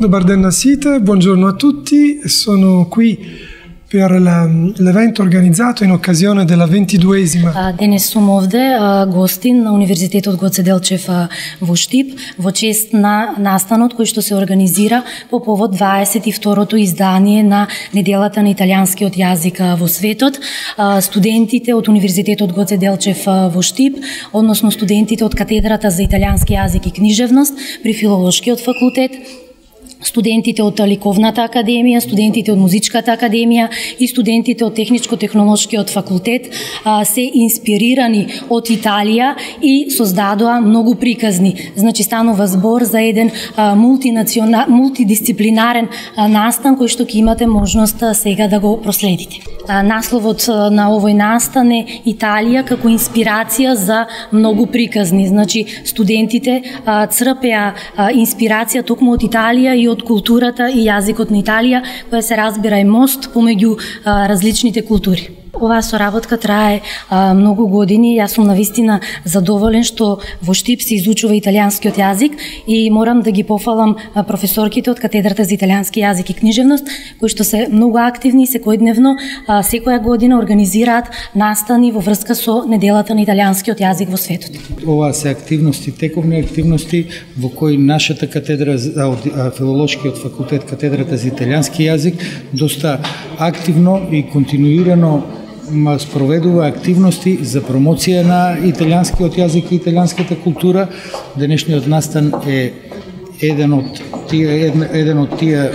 Dobar den a site, buongiorno a tutti. Sono qui per l'evento organizzato in occasione della 22esima. Денес сум овде гостин на Универзитетот Гоце Делчев во Штип во чест на настанот кој што се организира по повод 22-то издание на Неделата на италијанскиот јазик во светот. Студентите од Универзитетот Гоце Делчев во Штип, односно студентите од Катедрата за италијански јазик и книжевност при Филолошкиот факултет, студентите од Ликовната академија, студентите од Музичката академија и студентите од Техничко-технолошкиот факултет се инспирирани од Италија и создадоа многу приказни. Значи станува збор за еден мултидисциплинарен настан кој што ќе имате можност сега да го проследите. Насловот на овој настан е Италија како инспирација за многу приказни. Значи студентите црпеа инспирација токму од Италија и од културата и јазикот на Италија, која се разбира е мост помеѓу различните култури. Оваа соработка трае многу години. Јас сум навистина задоволен што во Штип се изучува италијанскиот јазик и морам да ги пофалам професорките од Катедрата за италијански јазик и книжевност, кои што се многу активни секојдневно, секоја година организираат настани во врска со Неделата на италијанскиот јазик во светот. Ова се активности, тековни активности во кои нашата катедра од Филолошкиот факултет, Катедрата за италијански јазик, доста активно и континуирано спроведува активности за промоција на италијанскиот јазик и италијанската култура. Денешниот настан е еден од тие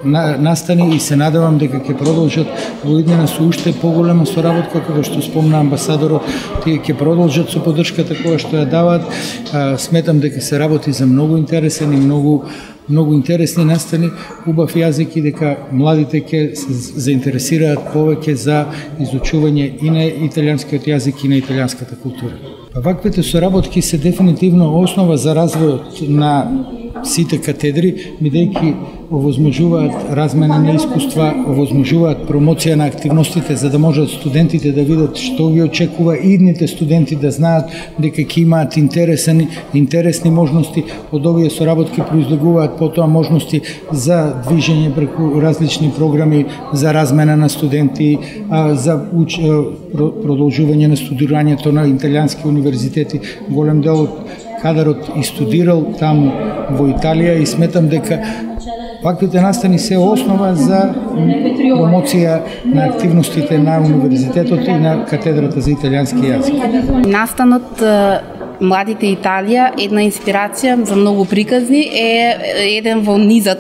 настани и се надевам дека ќе продолжат во иднина со уште поголема соработка, како што спомна амбасадорот, тие ќе продолжат со поддршката која што ја даваат. Сметам дека се работи за многу интересен и многу интересни настани, убав јазик и дека младите ќе се заинтересираат повеќе за изучување и на италијанскиот јазик и на италијанската култура. Ваквите соработки се дефинитивно основа за развојот на сите катедри, бидејќи овозможуваат размена на искуства, овозможуваат промоција на активностите за да можат студентите да видат што ги очекува и идните студенти да знаат дека ќе имаат интересни можности. Од овие соработки произлегуваат потоа можности за движење преку различни програми за размена на студенти, за продолжување на студирањето на италијански универзитети. Голем дел од кадарот и студирал таму во Италија и сметам дека ваквите настани се основа за промоција на активностите на универзитетот и на Катедрата за италијански јазик. Настанот Младите Италија, една инспирација за многу приказни, е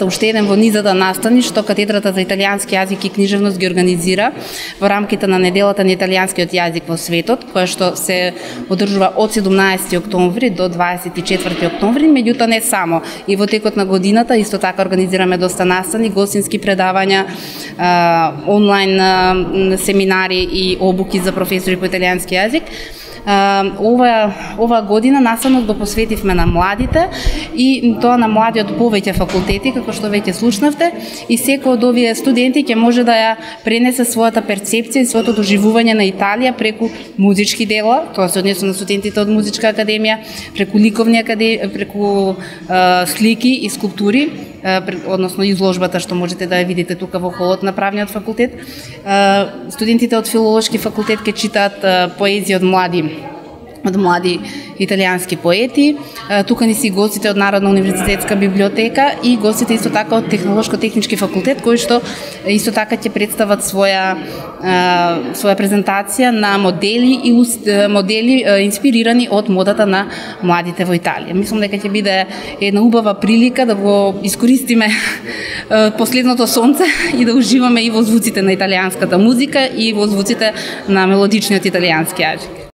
уште еден во низата настани што Катедрата за италијански јазик и книжевност ги организира во рамките на Неделата на италијанскиот јазик во светот, која што се одржува од 17 октомври до 24 октомври, меѓутоа не само. И во текот на годината исто така организираме доста настани, гостински предавања, онлайн семинари и обуки за професори по италијански јазик. Ова година настанот го посветивме на младите и тоа на младиот повеќе факултети, како што веќе слушнавте, и секој од овие студенти ќе може да ја пренесе својата перцепција и своето доживување на Италија преку музички дела, тоа се однесува на студентите од Музичка академија, преку ликовни академија, преку слики и скулптури, односно изложбата што можете да ја видите тука во холот на правниот факултет. Студентите од Филолошки факултет ќе читаат поезија од млади италијански поети. Тука ни си гостите од Народна универзитетска библиотека и гостите исто така од Технолошко-технички факултет, кои што исто така ќе представат своја презентација на модели инспирирани од модата на младите во Италија. Мислам дека ќе биде една убава прилика да го искористиме последното сонце и да уживаме и во звуците на италијанската музика и во звуците на мелодичниот италијански јазик.